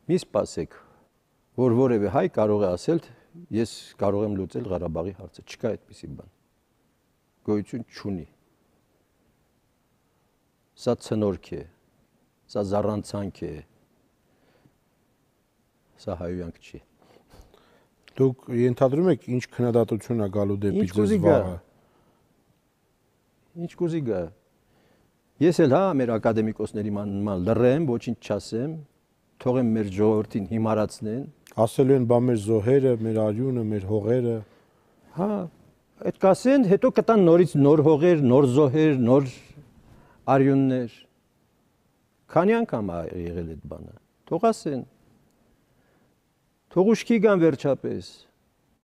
Մի սպասեք, որ որևէ հայ կարող է ասել, ես կարող եմ լուծել Ղարաբաղի հարցը, չկա այդպիսի բան։ Գոյություն չունի։ Սա ցնորք է, սա զառանցանք է, սա հայոյանք չի։ Դուք ենթադրում եք ինչ քննադատություն է գալու դեպի ձեզ վաղը։ Ինչ կուզի գա։ Ես էլ մեր ակադեմիկոսների ման լռեմ, ոչինչ չասեմ, թողեմ մեր ժողովրդին հիմարացնեն։ Ասելու են բա մեր զոհերը, մեր արյունը, մեր հողերը։ Հա, այդ կասեն, հետո կտան նորից նոր հողեր, նոր զոհեր, նոր արյուններ։ Քանի անգամ եղել այդ բանը։ Թող ասեն։ Թող ուշքի գան վերջապես։